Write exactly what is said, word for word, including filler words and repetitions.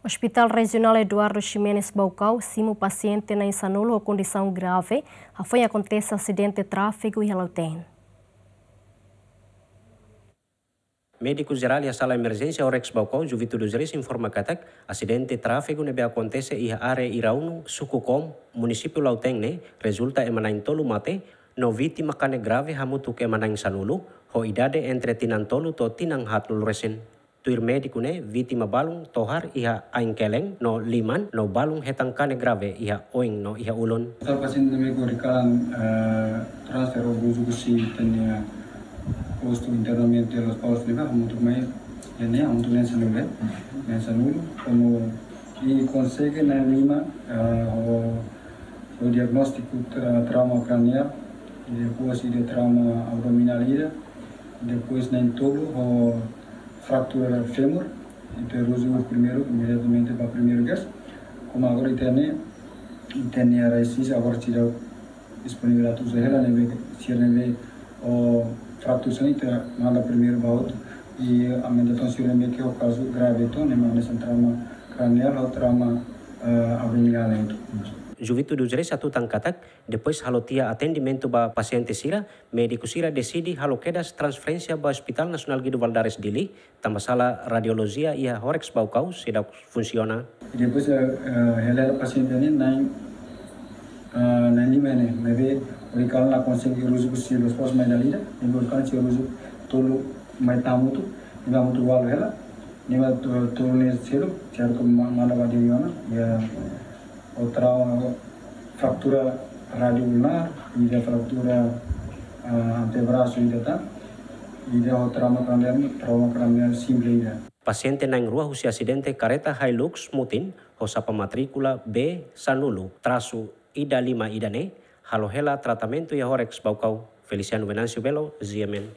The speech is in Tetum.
Hospital Rejionál Eduardo Ximenes Baucau simu pasiente na'in sanulu ho kondisaun grave, hafoin akontese asidente tráfegu iha Lautém. Médiku Jerál iha Sala Emerjénsia Horecz Baucau, Juvito dos Reis, informa katak asidente tráfegu ne'ebé akontese iha área Iraunu, Suku Kom, Munisípiu Lautém ne'e, rezulta ema na'in tolu mate, no vítima kanek grave hamutuk ema na'in sanulu, ho idade entre tinan tolu to'o tinan haatnulu resin. Tuir médiku ne'e, vítima balun tohar iha ain-kelen no liman, no balun hetan kanek grave iha oin no iha ulun. Ita pasiente ne'ebé horikan, eh, transfer ho Ruzu husi ita-nia postu internamentu Lospalos ne'ebá, hamutuk mai, ida-ne'e hamutuk na'in sanulu, na'in sanulu, komu ita konsege na'in lima, eh, ho, ho diagnóstiku tra-, trauma craneal, i depois ida trauma abdominál ida, depois na'in tolu ho fratura fémur, ita Ruzu primeiru, imediatamente ba primeiru gas. Komu agora ita-nia, ita-nia rasis agora sira disponibilidade uza hela ne'ebé, sira ne'ebé ho fratura sira-ne'e ita manda primeiru ba hotu. I aumenta tan sira ne'ebé ke ho kazu grave tan, ne'e manda hanesan trauma craneal ho trauma, eh, abdominál ne'e hotu. Juvito dos Reis hatutan katak, depois halo tiha atendimentu ba pasiente sira, médiku sira deside halo kedas transferénsia ba Hospital Nasionál Guido Valadares Dili, tanba sala radiolojia iha Horecz Baucau seidauk funsiona. I depois, eh, eh, hela pasiente ne'e na'in, eh, na'in lima ne'e, maibé horikan la konsege Ruzu husi Lospalos mai dala ida, i horikan sira Ruzu tolu mai tan hamutuk, i hamutuk ualu hela, ne'e mak to-, tolu ne'e seluk, sira atu ma-, manda ba Dili ona, iha ho trauma, fratura radioulnar, ida fratura, ah, antebrasu ida tan, ida ho trauma craneal, trauma craneal simples ida. Pasiente na'in rua husi asidente karreta Hilux mutin, ho xapa matríkula B sanulu trasu ida lima ida-ne'e, halo hela tratamentu iha Horecz Baucau. Feliciano Venâncio Belo, G M N.